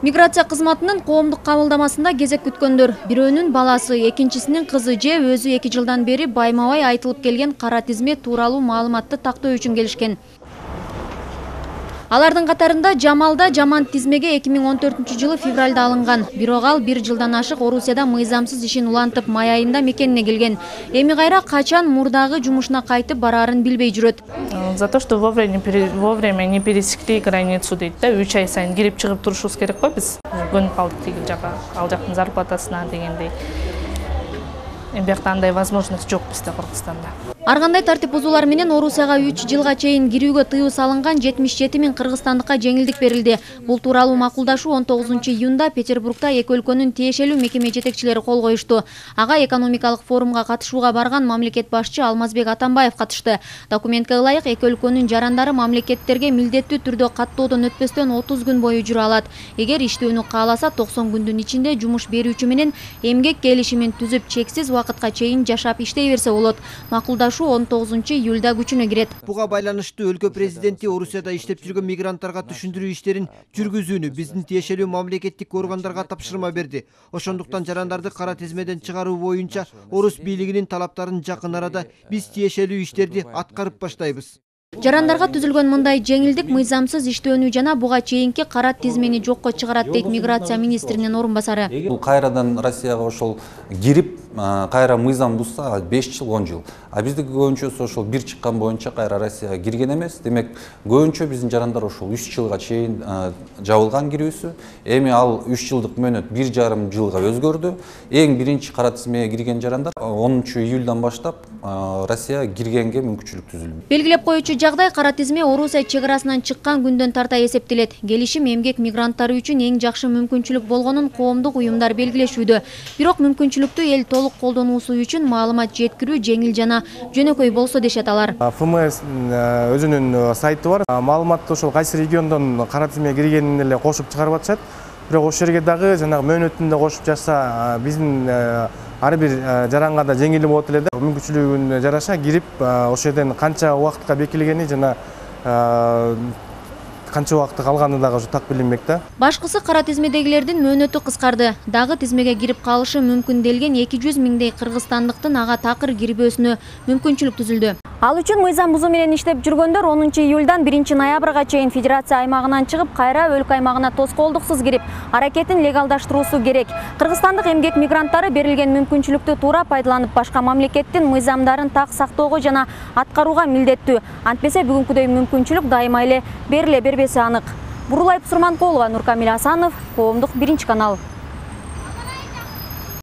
Миграция кызматынын коомдук кабылдамасында кезек күткөндөр. Бирөөнүн баласы, экинчисинин кызы же өзү 2 жылдан бери байма-бай айтылып келген кара тизме тууралуу маалыматты тактоо үчүн келишкен. Алардын катарында Жамалда жаман тизмеге 2014 февралда алынган. Бирок ал 1 жылдан ашык Орусияда мыйзамсыз ишин улантып, май айында мекенине келген. Эми кайра качан мурдагы жумушуна кайтып бараарын билбей жүрөт. За то, что вовремя не пересекли границу дейт да, 3 ай сайын кирип чыгып турушубуз керек го биз. Көнүп калдык тиги жака, ал жактын зарплатасына дегендей. Эми бияқта андай возможность жок бизде Кыргызстанда. Ар кандай тартип бузуулар менен Орусияга 3 жылга чейин кирүүгө тыюу салынган 77 миң кыргызстандыкка жеңилдик берилди. Бул тууралуу макулдашуу 19 июнда Петербургда эки өлкөнүн тиешелүү мекеме жетекчилери кол коюшту. Ага экономикалык форумга катышууга барган мамлекет башчы Алмазбек Атамбаев катышты. Документке ылайык эки өлкөнүн жарандары мамлекеттерге милдеттүү түрдө каттоодон өтпөстөн 30 күн бою жүрө алат. Эгер иштөөнү кааласа 90 күндүн ичинде жумуш берүүчү менен эмгек келишимин түзүп чексиз убакытка чейин жашап иштей берсе болот. Макулдашуу 19 июлда күчүнө кирет. Буга байланыштуу өлкө президенти Орусияда иштеп жүргөн мигранттарга түшүндүрүү иштерин жүргүзүүнү биздин тиешелүү мамлекеттик органдарга тапшырма берди. Ошондуктан жарандарды кара тизмеден чыгаруу боюнча Орус бийлигинин талаптарын жакын арада биз тиешелүү иштерди аткарып баштайбыз. Жарандарга түзүлгөн мындай жеңилдик мыйзамсыз иштөөнү жана буга чейинки кара тизмени жокко чыгарат дейт миграция министринин орун басары. Бул кайрадан Россияга ошол кирип, кайра мыйзам бузса 5 жыл, 10 жыл. А биздики көбүнчөсү ошол бир чыккан боюнча кайра Россияга кирген эмес. Демек, көбүнчө биздин жарандар ошол 3 жылга чейин жабылган кирүүсү. Эми ал 3 жылдык мөөнөт 1,5 жылга өзгөрдү. Эң биринчи кара тизмеге кирген жарандар 10 июлдан баштап Россияга киргенге мүмкүнчүлүк түзүлдү. Белгилеп коюучу жагдай кара тизме Орусия чек арасынан чыккан күндөн тарта эсептелет. Келишим эмгек мигранттары үчүн эң жакшы мүмкүнчүлүк болгонун коомдук уюмдар белгилешүүдө. Бирок мүмкүнчүлүктү эл толук колдонуусу үчүн маалымат жеткирүү жеңил жана жөнөкөй болсо дешет алар. ФМС өзүнүн сайты бар. Маалыматты ошол кайсы региондон кара тизмеге киргенин эле кошуп чыгарып атышат. Бирок ошол жерге дагы жанагы мөөнөтүндө кошуп жатса биздин ар бир жаранга да жеңил болот эле да. Мүмкүнчүлүгүнө жараша кирип ошол жерден канча убакытка бекилгени жана канча убакыт калганы дагы ушу так билинбек да. Башкысы кара тизмедегилердин мөөнөтү кыскарды. Дагы тизмеге кирип калышы мүмкүн делген 200 миңдей кыргызстандыктын ага такыр кирбөөсүнө мүмкүнчүлүк түзүлдү. Ал үчүн мыйзам бузуу менен иштеп жүргөндөр 10 июлдан 1 ноябрга чейин федерация аймагынан чыгып, кайра өлкө аймагына тоскоолдуксуз кирип, аракетин легалдаштыруусу керек. Кыргызстандык эмгек мигранттары берилген мүмкүнчүлүктү туура пайдаланып, башка мамлекеттин мыйзамдарын так сактоого жана аткарууга милдеттүү. Антпесе бүгүнкүдөй мүмкүнчүлүк дайыма эле бериле бербеси анык. Бурулай Сурманкулова, Нуркамил Асанов, Коомдук 1 канал.